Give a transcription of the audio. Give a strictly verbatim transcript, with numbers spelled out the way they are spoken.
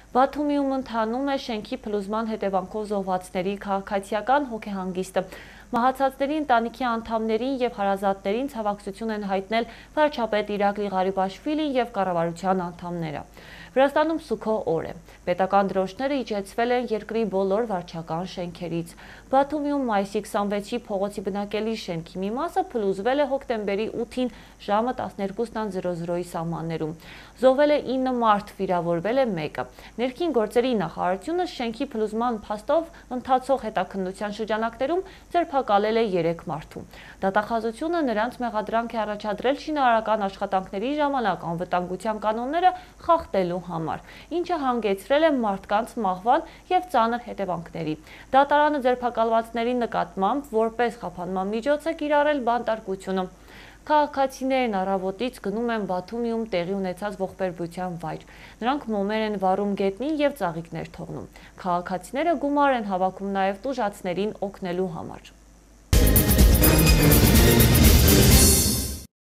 Բաթումիում ընթանում է շենքի փլուզման հետևանքով զոհվածների քաղաքացիական հոգեհանգիստը։ Մահացածների ընտանիքի անդամներին և հարազատներին ցավակցություն են հայտնել վարչապետ Իրակլի Ղարիբաշվիլին և կառավարության անդամները։ Վրաստանում Սուքո օր է։ Պետական դրոշները իջեցվել են երկրի բոլոր վարչական շենքերից։ Բաթումիում մայիսի քսանվեցի փողոցի բնակելի շենքի մի մասը փլուզվել է հոկտեմբերի ութին ժամը տասներկուսի սահմաններում։ Զոհվել է ինը մարդ, վիրավորվել է մեկը։ Ներքին գործերի նախարարությունը շենքի փլուզման փաստով ընթացող հետաքննության շրջանակներում ձերբակալել է երեք մարդու։ Դատախազությունը նրանց մեղադրանք է առաջադրել շինարարական աշխատանքների ժամանակ անվտանգության կանոնները խախտելու համար, ինչը հանգեցրել է մարդկանց մահվան և ծանր հետևանքների։ Դատարանը ձերբակալվածների նկատմամբ որպես խափանման միջոց է կիրառել բանտարկությունը։ Քաղաքացիներն առավոտից գնում են Բաթումիում տեղի ունեցած ողբերգության վայր։ Նրանք մոմեր են վառում գետնին և ծաղիկներ թողնում։ Քաղաքացիները գումար են հավաքում նաև տուժածներին օգնելու համար։